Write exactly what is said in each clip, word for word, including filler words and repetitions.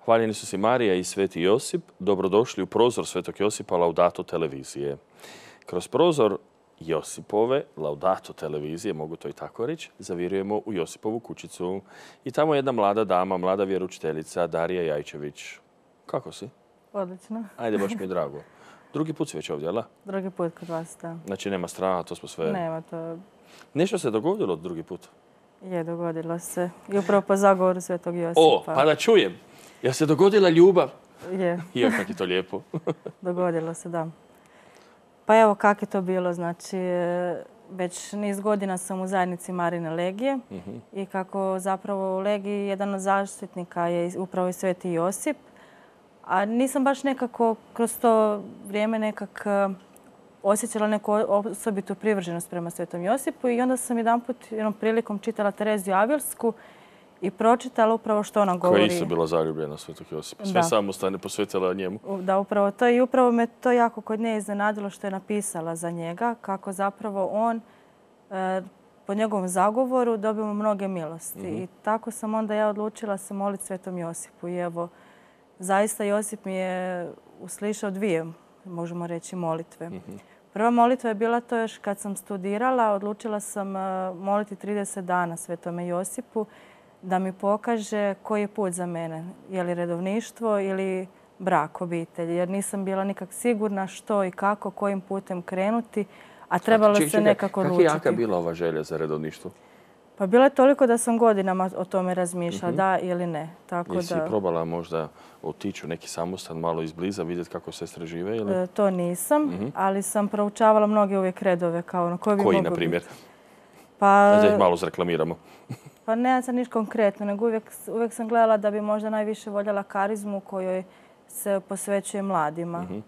Hvaljeni su si Marija i Sveti Josip. Dobrodošli u prozor Svetog Josipa Laudato televizije. Kroz prozor Josipove Laudato televizije, mogu to i tako reći, zavirujemo u Josipovu kućicu. I tamo je jedna mlada dama, mlada vjeroučiteljica, Darija Jajčević. Kako si? Odlično. Ajde, baš mi je drago. Drugi put si već ovdje, jel? Drugi put kod vas, da. Znači nema straha, to smo sve... Nema to. Nešto se dogodilo drugi put? Je, dogodilo se. I upravo po zagovoru Svetog Josipa. O, pa da čujem. Jel se dogodila ljubav? Je. I kako je to lijepo. Dogodilo se, da. Pa evo kako je to bilo. Znači, već niz godina sam u zajednici Marine Legije Mhm. i kako zapravo u Legiji jedan od zaštitnika je upravo i Sveti Josip. A nisam baš nekako kroz to vrijeme nekak osjećala neku osobitu privrženost prema Svetom Josipu i onda sam jedanput jednom prilikom čitala Tereziju Avilsku i pročitala upravo što ona govori. Koja je isto bila zaljubljena Svetog Josipa. Sve samostane posvetila njemu. Da, upravo to. I upravo me to jako kod nje iznenadilo što je napisala za njega, kako zapravo on e, po njegovom zagovoru dobimo mnoge milosti. Mhm. I tako sam onda ja odlučila se moliti Svetom Josipu. I evo, zaista Josip mi je uslišao dvije, možemo reći, molitve. Mhm. Prva molitva je bila to još kad sam studirala. Odlučila sam moliti trideset dana Svetome Josipu da mi pokaže koji je put za mene. Je li redovništvo ili brak, obitelj. Jer nisam bila nikak sigurna što i kako, kojim putem krenuti, a trebalo se nekako odlučiti. Kako je jaka bila ova želja za redovništvo? Pa bilo je toliko da sam godinama o tome razmišljala, mm-hmm. da ili ne. Tako Jesi da... probala možda otići u neki samostan malo izbliza, vidjeti kako sestre žive? Ili? E, to nisam, mm-hmm. ali sam proučavala mnoge uvijek redove. Kao ono, koji, koji na primjer? Pa, da ih malo zreklamiramo. Pa ne sad niš konkretno, nego uvijek, uvijek sam gledala da bi možda najviše voljela karizmu kojoj se posvećuje mladima. Mm-hmm.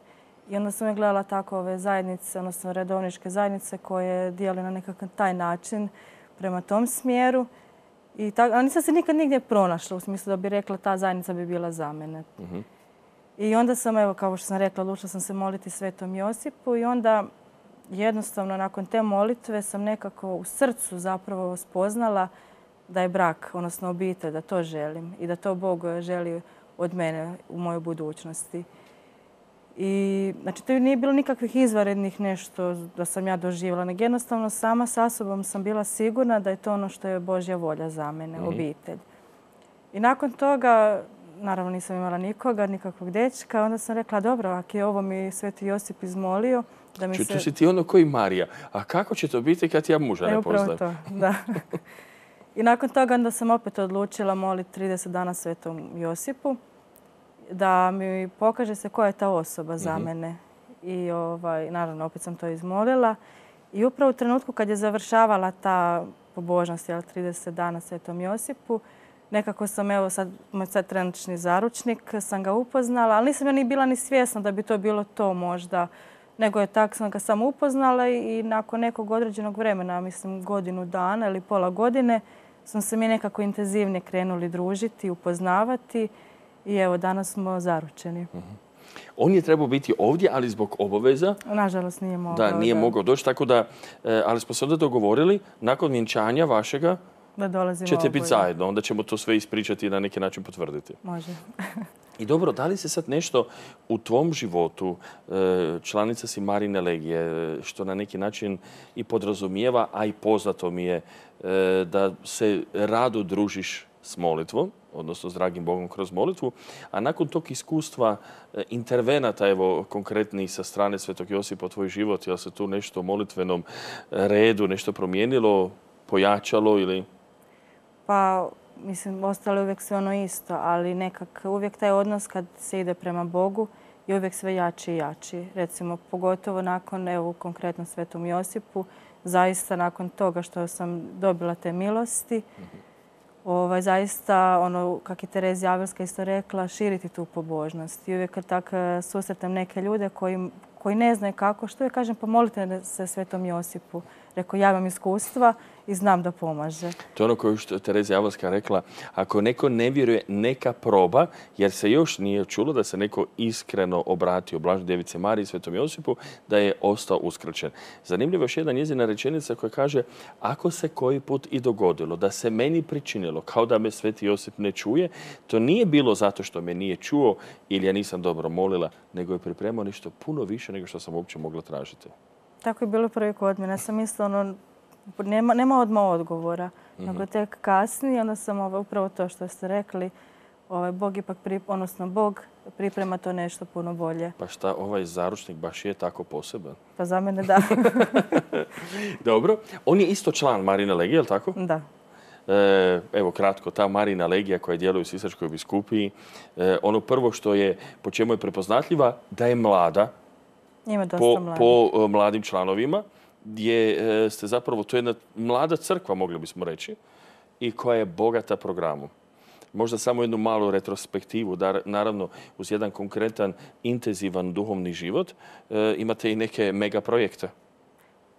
I onda sam je gledala tako ove zajednice, odnosno redovničke zajednice koje dijeli na nekakav taj način prema tom smjeru. I tako, a nisam se nikad nigdje pronašla u smislu da bi rekla ta zajednica bi bila za mene. Mm-hmm. I onda sam, evo, kao što sam rekla, odlučila sam se moliti Svetom Josipu i onda jednostavno nakon te molitve sam nekako u srcu zapravo spoznala da je brak, odnosno obitelj, da to želim i da to Bog želi od mene u mojoj budućnosti. I znači to nije bilo nikakvih izvanrednih nešto da sam ja doživjela, nego jednostavno sama sa sobom sam bila sigurna da je to ono što je Božja volja za mene, mm-hmm. obitelj. I nakon toga, naravno nisam imala nikoga, nikakvog dečka, onda sam rekla dobro, ako je ovo mi Sveti Josip izmolio, da mi Ču, se... Tu si ti ono koji Marija, a kako će to biti kad ja muža ne poznajem? Upravo to, da. I nakon toga onda sam opet odlučila moliti trideset dana Svetom Josipu da mi pokaže se koja je ta osoba za mm-hmm. mene. I ovaj, naravno opet sam to izmolila. I upravo u trenutku kad je završavala ta pobožnost, jel, trideset dana Svetom Josipu, nekako sam, evo sad, moj sad trenutni zaručnik, sam ga upoznala, ali nisam ja ni bila ni svjesna da bi to bilo to možda. Nego je tako sam ga samo upoznala i, i nakon nekog određenog vremena, mislim godinu dana ili pola godine, smo se mi nekako intenzivnije krenuli družiti, upoznavati i evo danas smo zaručeni. Mm-hmm. On je trebao biti ovdje, ali zbog obaveza... Nažalost nije mogao. Da, nije da. mogao doći, tako da... Ali smo se onda dogovorili, nakon vjenčanja vašega, da dolazimo ćete oboje. biti zajedno. Onda ćemo to sve ispričati i na neki način potvrditi. Može. I dobro, da li se sad nešto u tvom životu, članica si Marine Legije, što na neki način i podrazumijeva, a i poznato mi je da se rado družiš s molitvom, odnosno s dragim Bogom kroz molitvu, a nakon tog iskustva intervenata, evo, konkretnih sa strane Svetog Josipa u tvoj život, je li se tu nešto u molitvenom redu, nešto promijenilo, pojačalo ili... Pa, mislim, ostalo je uvijek sve ono isto, ali nekak uvijek taj odnos kad se ide prema Bogu je uvijek sve jači i jači. Recimo, pogotovo nakon, evo, konkretno Svetom Josipu, zaista nakon toga što sam dobila te milosti, mm-hmm. ovaj, zaista, ono, kak je Terezija Avilska isto rekla, širiti tu pobožnost. I uvijek kad tak susretem neke ljude koji, koji ne znaju kako, što je, kažem, pomolite se Svetom Josipu. Rekao, ja imam iskustva i znam da pomaže. To je ono koje što je Terezija Javorska rekla, ako neko ne vjeruje, neka proba, jer se još nije čulo da se neko iskreno obratio Blažnoj Djevici Mariji i Svetom Josipu, da je ostao uskraćen. Zanimljivo je još jedna njezina rečenica koja kaže, ako se koji put i dogodilo da se meni pričinilo kao da me Sveti Josip ne čuje, to nije bilo zato što me nije čuo ili ja nisam dobro molila, nego je pripremao nešto puno više nego što sam uopće mogla tražiti. Tako je bilo prvi kod mene. Ja sam mislila, ono, nema, nema odmah odgovora, mm-hmm. nego tek kasnije. Onda sam ovaj, upravo to što ste rekli, ovaj, Bog ipak, pri, odnosno Bog priprema to nešto puno bolje. Pa šta, ovaj zaručnik baš je tako poseban? Pa za mene da. Dobro. On je isto član Marine Legije, je li tako? Da. E, evo kratko, ta Marina Legija koja djeluje u Sisačkoj biskupiji, e, ono prvo što je, po čemu je prepoznatljiva, da je mlada. Ima dosta po, mladih. po uh, mladim članovima, gdje uh, ste zapravo, to je jedna mlada crkva, mogli bismo reći, i koja je bogata programom. Možda samo jednu malu retrospektivu, da naravno uz jedan konkretan, intenzivan duhovni život uh, imate i neke mega projekte.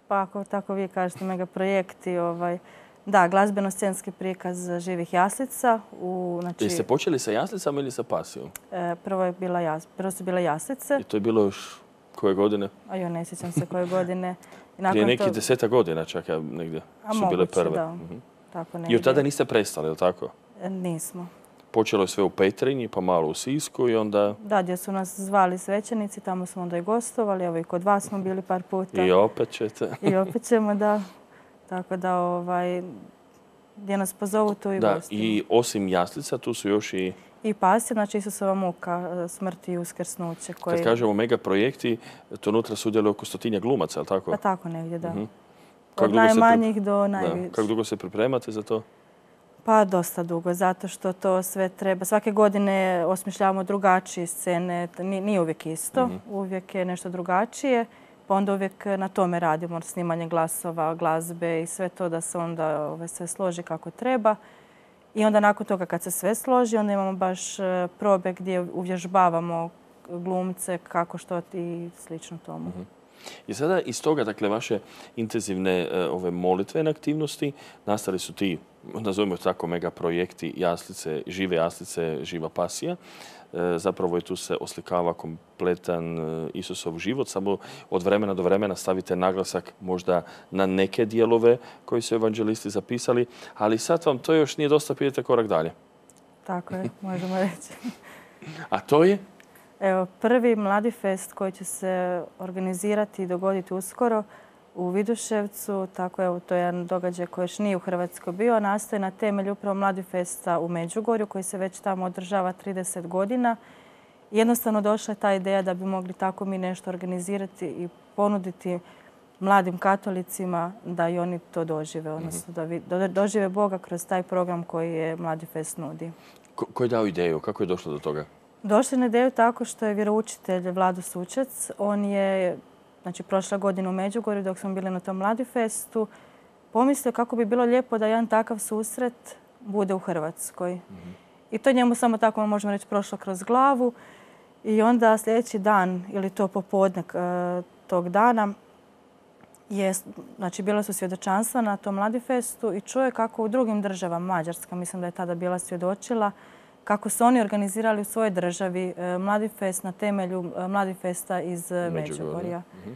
Pa ako tako vi kažete, mega projekti, ovaj, da, glazbeno-scenski prikaz živih jaslica. U, znači, Jeste počeli sa jaslicama ili sa pasijom? E, prvo, je bila jas, prvo su bile jaslice. I to je bilo još koje godine? A jo, ne sjećam se koje godine. I nakon Prije nekih to... deseta godina čak ja negdje A su moguće, bile prve. Da. Uh-huh. Tako I od tada niste prestali, je li tako? E, nismo. Počelo je sve u Petrinji, pa malo u Sisku i onda... Da, gdje su nas zvali svećenici, tamo smo onda i gostovali. Evo i kod vas smo bili par puta. I opet ćete. I opet ćemo, da. Tako da, ovaj, gdje nas pozovu, tu i da, gostimo. I osim jaslica, tu su još i... I pasija, znači Isusova muka, smrt i uskrsnuće. Koji... Kad kažemo mega projekti, to unutra sudjeluje oko stotinja glumaca, je li tako? Pa tako negdje, da. Uh-huh. Od najmanjih pri... do najviših. Kako dugo se pripremate za to? Pa dosta dugo, zato što to sve treba. Svake godine osmišljavamo drugačije scene, nije uvijek isto, uh-huh. uvijek je nešto drugačije. Pa onda uvijek na tome radimo, snimanje glasova, glazbe i sve to da se onda ove, sve složi kako treba. I onda nakon toga kad se sve složi, onda imamo baš probe gdje uvježbavamo glumce, kako što i slično tomu. Uh-huh. I sada iz toga, dakle, vaše intenzivne ove molitvene aktivnosti nastali su ti, nazovimo tako, mega projekti jaslice, žive jaslice, živa pasija. Zapravo je tu se oslikava kompletan Isusov život, samo od vremena do vremena stavite naglasak možda na neke dijelove koji su evanđelisti zapisali, ali sad vam to još nije dosta, pidete korak dalje. Tako je, možemo reći. A to je? Evo, prvi Mladi fest koji će se organizirati i dogoditi uskoro u Viduševcu. Tako evo, to je jedan događaj koji još nije u Hrvatskoj bio, a nastoji na temelju upravo Mladi festa u Međugorju koji se već tamo održava trideset godina. Jednostavno došla je ta ideja da bi mogli tako mi nešto organizirati i ponuditi mladim katolicima da i oni to dožive, odnosno da dožive Boga kroz taj program koji je Mladi fest nudi. Ko, ko je dao ideju? Kako je došlo do toga? Došli na ideju tako što je vjeroučitelj Vlado Sučec. On je, znači, prošla godina u Međugorju dok smo bili na tom Mladi festu, pomislio kako bi bilo lijepo da jedan takav susret bude u Hrvatskoj. Mm-hmm. I to njemu samo tako, možemo reći, prošlo kroz glavu. I onda sljedeći dan, ili to popodne tog dana, je, znači, bila su svjedočanstva na tom Mladi festu i čuje kako u drugim državama, Mađarska, mislim da je tada bila svjedočila, kako su oni organizirali u svojoj državi Mladi fest na temelju Mladi festa iz Međugorja. Uh-huh.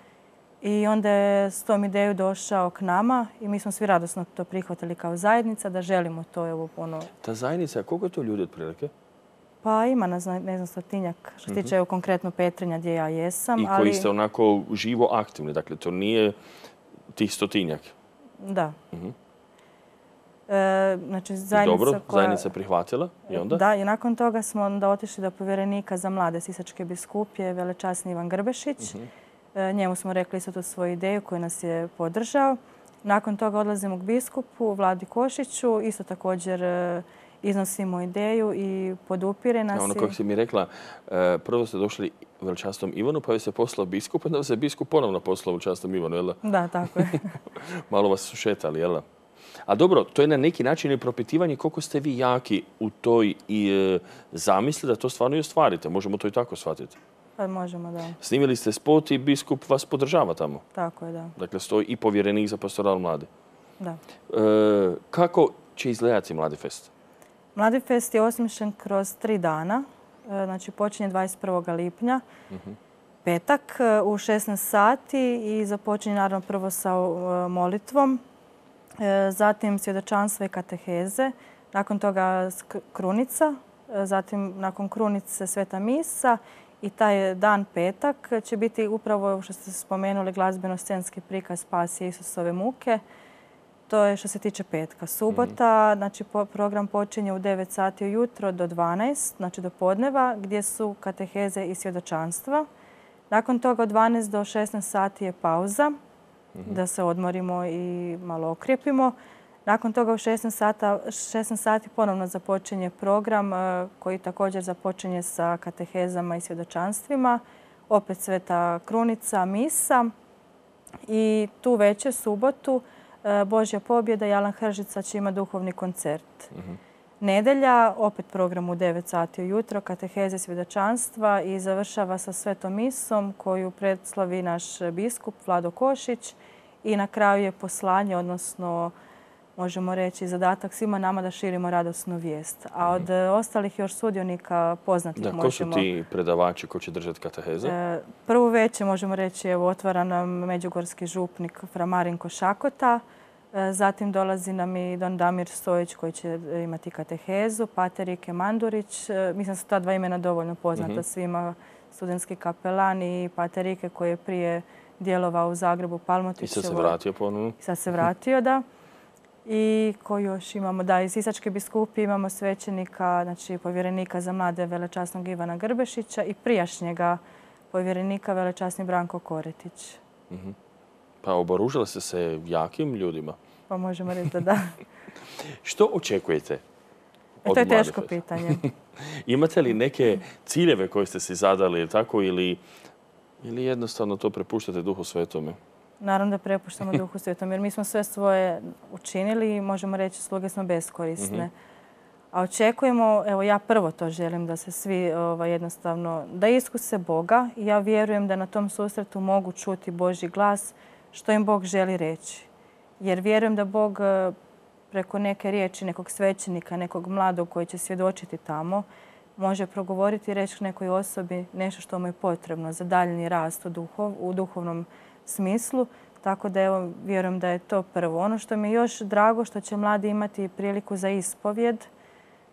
I onda je s tom ideju došao k nama i mi smo svi radosno to prihvatili kao zajednica, da želimo to. Evo, ono... Ta zajednica, koliko je to ljudi otprilike? Pa ima, ne znam, ne znam stotinjak. Što se tiče uh-huh. konkretno Petrinja gdje ja jesam. I koji ali... ste onako živo aktivni, dakle to nije tih stotinjak? Da. Uh-huh. E, znači, zajednica dobro, koja... zajednica prihvatila i onda? Da, i nakon toga smo onda otišli do povjerenika za mlade Sisačke biskupije, velečasni Ivan Grbešić. Uh-huh. e, njemu smo rekli isto tu svoju ideju koju nas je podržao. Nakon toga odlazimo k biskupu Vladi Košiću, isto također e, iznosimo ideju i podupire nas. Ja, ono kako si mi rekla, e, prvo ste došli velečasnom Ivanu, pa je se poslao biskup, onda se biskup ponovno poslao velečasnom Ivanu, jel? Da, tako je. Malo vas su šetali, jel? A dobro, to je na neki način i propitivanje koliko ste vi jaki u toj i e, zamisli da to stvarno i ostvarite. Možemo to i tako shvatiti. Pa možemo, da. Snimili ste spot i biskup vas podržava tamo. Tako je, da. Dakle, stoji i povjerenik za pastoral mladi. Da. E, kako će izgledati Mladi fest? Mladi fest je osmišljen kroz tri dana. E, znači, počinje dvadeset prvog lipnja, Uh-huh. petak u šesnaest sati i započinje naravno prvo sa e, molitvom, e, zatim svjedočanstvo i kateheze, nakon toga krunica, e, zatim nakon krunice sveta misa i taj dan petak će biti upravo što ste spomenuli glazbeno-scenski prikaz Pasije Isusove muke. To je što se tiče petka. Subota, znači program počinje u devet sati ujutro do dvanaest, znači do podneva, gdje su kateheze i svjedočanstva. Nakon toga od dvanaest do šesnaest sati je pauza, mm-hmm. da se odmorimo i malo okrijepimo. Nakon toga u šesnaest sati ponovno započinje program koji također započinje sa katehezama i svjedočanstvima. Opet sveta krunica, misa i tu večer, subotu, Božja pobjeda i Alan Hržica će imati duhovni koncert. Mm-hmm. Nedelja, opet program u devet sati ujutro, kateheze svjedočanstva i završava sa svetom misom koju predslavi naš biskup Vlado Košić i na kraju je poslanje, odnosno možemo reći zadatak svima nama da širimo radosnu vijest. A od mm-hmm. ostalih još sudionika poznatih da, možemo... Ko su ti predavači koji će držati kateheze? E, prvu večer možemo reći evo, otvara nam međugorski župnik fra Marinko Šakota. E, zatim dolazi nam i don Damir Stojić koji će imati katehezu, pater Ike Mandurić. E, mislim da su ta dva imena dovoljno poznata mm-hmm. svima. Studentski kapelan i pater Ike koji je prije djelovao u Zagrebu Palmotićevo. I sad se vratio ponovno. I sad se vratio, da. I koji još imamo, da, iz Sisačke biskupi imamo svećenika, znači povjerenika za mlade velečasnog Ivana Grbešića i prijašnjega povjerenika velečasni Branko Koretić. Mm-hmm. Pa oboružili ste se jakim ljudima? Pa možemo reći da da. Što očekujete od e, to je Mlade teško fest? Pitanje. Imate li neke ciljeve koje ste si zadali tako ili, ili jednostavno to prepuštate Duhu Svetome? Naravno da prepuštamo Duhu Svetom, jer mi smo sve svoje učinili i možemo reći sluge smo beskorisne. Mm-hmm. A očekujemo, evo ja prvo to želim, da se svi ovaj, jednostavno, da iskuse Boga i ja vjerujem da na tom susretu mogu čuti Božji glas što im Bog želi reći. Jer vjerujem da Bog preko neke riječi, nekog svećenika, nekog mladog koji će svjedočiti tamo, može progovoriti i reći nekoj osobi nešto što mu je potrebno za daljnji rast u, duhov, u duhovnom smislu. Tako da evo, vjerujem da je to prvo. Ono što mi je još drago što će mladi imati priliku za ispovjed,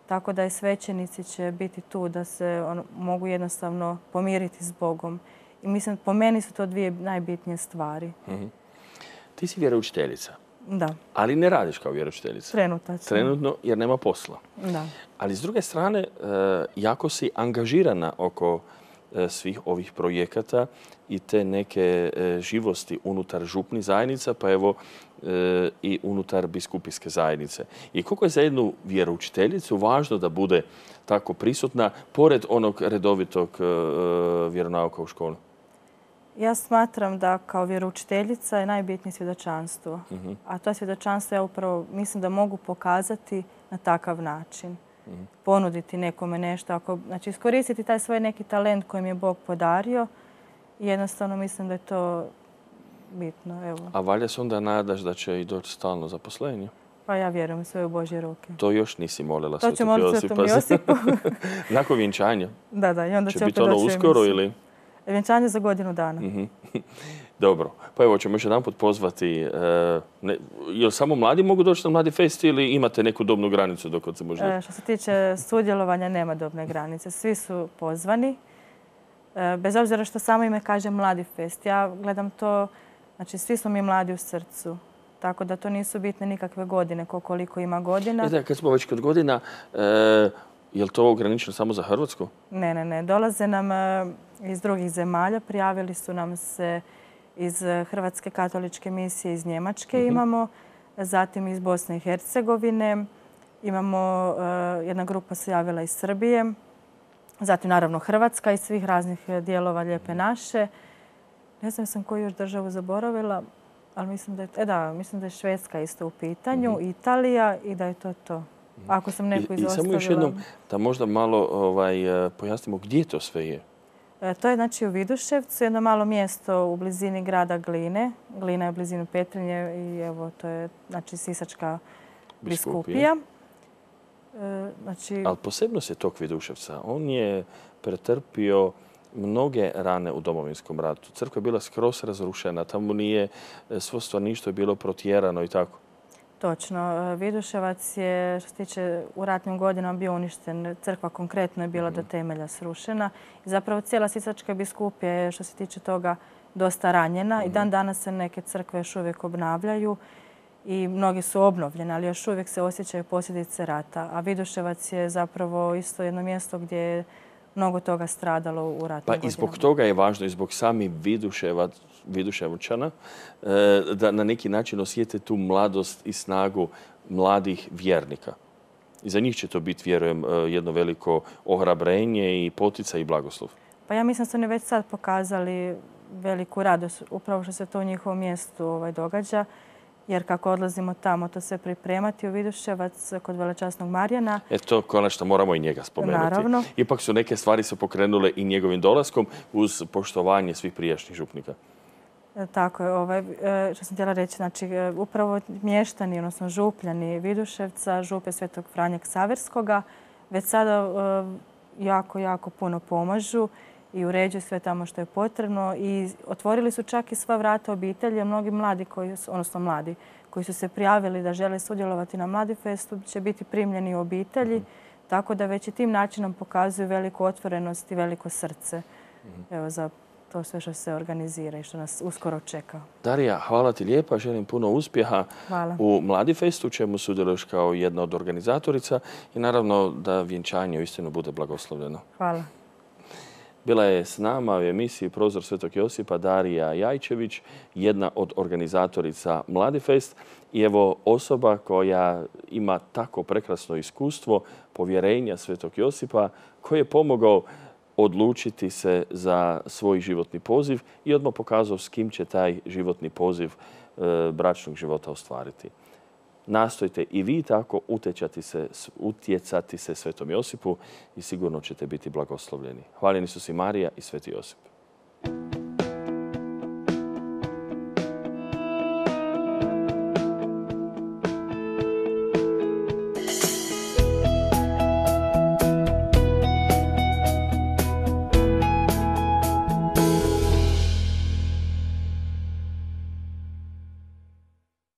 tako da i svećenici će biti tu da se on, mogu jednostavno pomiriti s Bogom. I mislim, po meni su to dvije najbitnije stvari. Mm-hmm. Ti si vjeroučiteljica. Da. Ali ne radiš kao vjeroučiteljica. Trenutačno. Trenutno jer nema posla. Da. Ali s druge strane, jako si angažirana oko svih ovih projekata i te neke živosti unutar župnih zajednica, pa evo i unutar biskupijske zajednice. I koliko je za jednu vjeroučiteljicu važno da bude tako prisutna, pored onog redovitog vjeronauka u školu? Ja smatram da kao vjeroučiteljica je najbitnije svjedočanstvo. Uh-huh. A to svjedočanstvo ja upravo mislim da mogu pokazati na takav način. Uh-huh. Ponuditi nekome nešto. Ako, znači iskoristiti taj svoj neki talent koji mi je Bog podario. Jednostavno mislim da je to bitno. Evo. A valja se onda nadaš da će i doći stalno zaposlenje? Pa ja vjerujem sve u Božje ruke. To još nisi molila Svetog Josipa. To ću moliti Svetom Josipu. Nakon vjenčanja? Da, da. I onda će će biti ono uskoro ili? Vjenčanje za godinu dana. Mm-hmm. Dobro. Pa evo, ćemo još jedan put pozvati. E, ne, jel samo mladi mogu doći na Mladi fest ili imate neku dobnu granicu dok se može? E, što se tiče sudjelovanja, nema dobne granice. Svi su pozvani. E, bez obzira što samo ime kaže Mladi fest. Ja gledam to, znači svi smo mi mladi u srcu. Tako da to nisu bitne nikakve godine, koliko ima godina. E da, kad smo već kod godina, e, je li to ograničeno samo za Hrvatsku? Ne, ne, ne. Dolaze nam e, iz drugih zemalja. Prijavili su nam se iz Hrvatske katoličke misije, iz Njemačke mm-hmm. imamo, zatim iz Bosne i Hercegovine. Imamo, e, jedna grupa se javila iz Srbije, zatim naravno Hrvatska iz svih raznih dijelova Lijepe naše. Ne znam sam koju još državu zaboravila, ali mislim da je, e da, mislim da je Švedska isto u pitanju, mm-hmm. Italija i da je to to. Ako sam neku izostavila. I samo još jednom da možda malo ovaj, pojasnimo gdje to sve je. To je znači u Viduševcu, jedno malo mjesto u blizini grada Gline. Glina je u blizini Petrinje i evo to je znači Sisačka biskupija. Znači... Ali posebnost je tog Viduševca. On je pretrpio mnoge rane u Domovinskom ratu. Crkva je bila skroz razrušena, tamo nije svo stanovništvo je bilo protjerano i tako. Točno. Viduševac je, što se tiče, u ratnim godinama bio uništen. Crkva konkretno je bila do temelja srušena. I zapravo cijela Sisačka biskupija je, što se tiče toga, dosta ranjena. I dan danas se neke crkve još uvijek obnavljaju i mnogi su obnovljene, ali još uvijek se osjećaju posljedice rata. A Viduševac je zapravo isto jedno mjesto gdje je mnogo toga stradalo u ratnim godinama. Pa i zbog toga je važno, i zbog sami Viduševčana, da na neki način osjete tu mladost i snagu mladih vjernika. I za njih će to biti, vjerujem, jedno veliko ohrabrenje i poticaj i blagoslov. Pa ja mislim da su oni već sad pokazali veliku radost, upravo što se to u njihovom mjestu događa. Jer kako odlazimo tamo to sve pripremati u Viduševac kod Velečasnog Marijana. E to konačno moramo i njega spomenuti. Naravno. Ipak su neke stvari se pokrenule i njegovim dolaskom uz poštovanje svih prijašnjih župnika. Tako je. Ovaj, što sam htjela reći, znači upravo mještani, odnosno župljani Viduševca, župe Svetog Franje Ksaverskoga, već sada jako, jako puno pomažu i uređuju sve tamo što je potrebno i otvorili su čak i sva vrata obitelji. Mnogi mladi, koji su, odnosno mladi, koji su se prijavili da žele sudjelovati na Mladifestu će biti primljeni u obitelji, tako da već i tim načinom pokazuju veliku otvorenost i veliko srce evo, za to sve što se organizira i što nas uskoro čeka. Darija, hvala ti lijepa. Želim puno uspjeha hvala. u Mladifestu, u čemu sudjeluješ kao jedna od organizatorica i naravno da vjenčanje uistinu bude blagoslovljeno. Hvala. Bila je s nama u emisiji Prozor Svetog Josipa Darija Jajčević, jedna od organizatorica Mladifest i evo osoba koja ima tako prekrasno iskustvo povjerenja Svetog Josipa koji je pomogao odlučiti se za svoj životni poziv i odmah pokazao s kim će taj životni poziv e, bračnog života ostvariti. Nastojte i vi tako utjecati se, utjecati se Svetom Josipu i sigurno ćete biti blagoslovljeni. Hvaljeni su si Marija i Sveti Josip.